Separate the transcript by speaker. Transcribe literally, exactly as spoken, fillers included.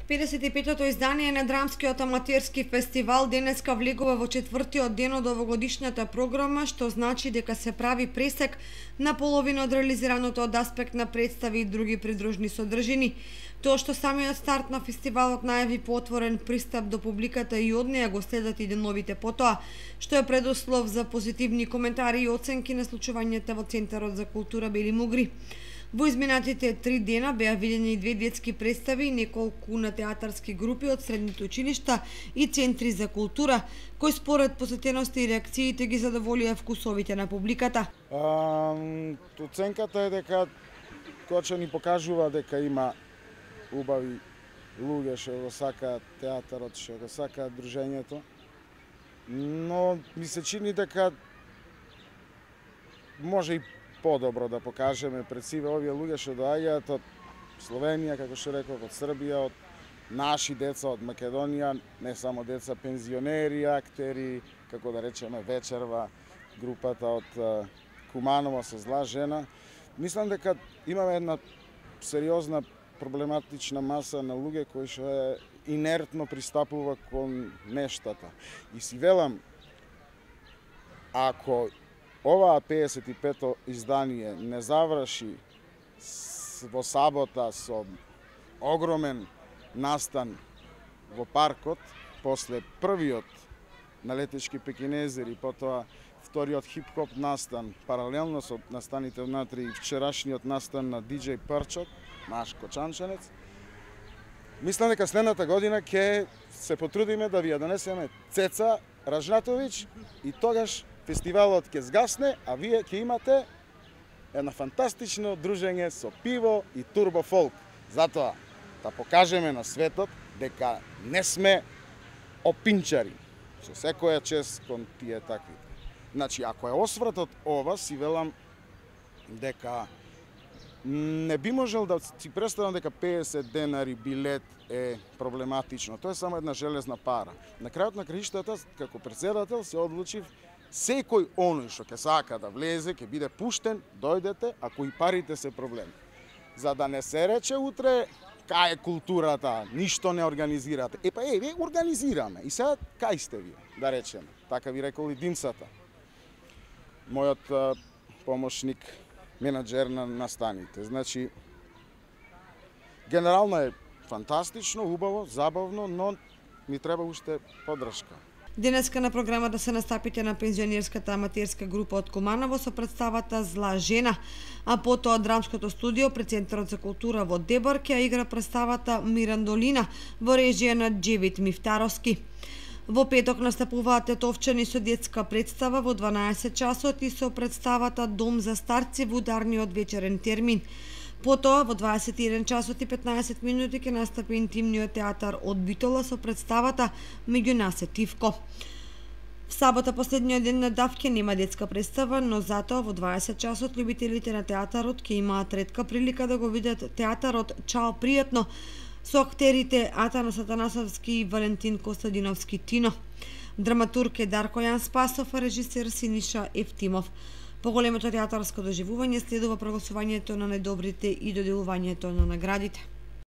Speaker 1: педесет и петото издание на Драмскиот аматерски фестивал денеска влегува во четвртиот ден од овогодишната програма, што значи дека се прави пресек на половина од реализираното од аспект на представи и други придружни содржини. Тоа што самиот старт на фестивалот најави поотворен пристап до публиката и од неја го следат и деновите потоа, што е предуслов за позитивни коментари и оценки на случувањата во Центарот за култура Бели Мугри. Во изминатите три дена беа видени две детски представи и неколку на театарски групи од средните училишта и центри за култура, кои според посетености и реакциите ги задоволија вкусовите на публиката.
Speaker 2: А, оценката е дека Коча ни покажува дека има убави луѓе што го сакаат театарот, што го сакаат дружењето, но ми се чини дека може и подобро да покажеме пред сиве овие луѓе што доаѓаат од Словенија, како што реков, од Србија, од наши деца од Македонија, не само деца, пензионери, актери, како да речеме вечерва, групата од Куманово со Зла жена. Мислам дека имаме една сериозна проблематична маса на луѓе кои што е инертно пристапува кон нештата. И си велам, ако оваа педесет и пето издание не заврши во сабота со огромен настан во паркот, после првиот на Летешки пекинезери, потоа вториот хип-хоп настан, паралелно со настаните внатре и вчерашниот настан на диџеј Парчот, наш кочанчанец, мислам дека следната година ќе се потрудиме да ви ја донесеме Цеца Ражнатовиќ и тогаш фестивалот ќе згасне, а вие ќе имате едно фантастично дружење со пиво и турбофолк. Затоа да покажеме на светот дека не сме опинчари, со секоја чест кон тие такви. Значи, ако е освратот ова, си велам дека не би можел да си представам дека педесет денари билет е проблематично. Тоа е само една железна пара. На крајот на краиштата, како претседател, се одлучив секој оној што ќе сака да влезе, ќе биде пуштен, дојдете, ако и парите се проблем. За да не се рече утре, кај е културата, ништо не организирате. Епа, е, вие организираме. И сега, кај сте вие, да речеме. Така ви рекол и Димцата. Мојот а, помошник, менаджер на настаните. Значи, генерално е фантастично, убаво, забавно, но ми треба уште поддршка.
Speaker 1: Денеска на програмата се настапите на пензионерската аматерска група од Куманово со представата Зла жена, а потоа драмското студио пред Центарот за култура во Дебар ќе игра представата Мирандолина во режија на Джевит Мифтаровски. Во петок настапуваат тетовчани со детска представа во дванаесет часот и со представата Дом за старци во ударниот вечерен термин. Потоа во дваесет и еден часот и петнаесет минути ќе настапи интимниот театар од Битола со представата Меѓу нас е Тивко. В сабота, последниот ден на Давке, нема детска представа, но затоа во дваесет часот љубителите на театарот ќе имаат ретка прилика да го видат театарот Чао пријатно со актерите Атанас Атанасовски и Валентин Костадиновски Тино. Драматург е Дарко Јан Спасов, а режисер Синиша Ефтимов. Поголемото театарско доживување следува прогласувањето на најдобрите и доделувањето на наградите.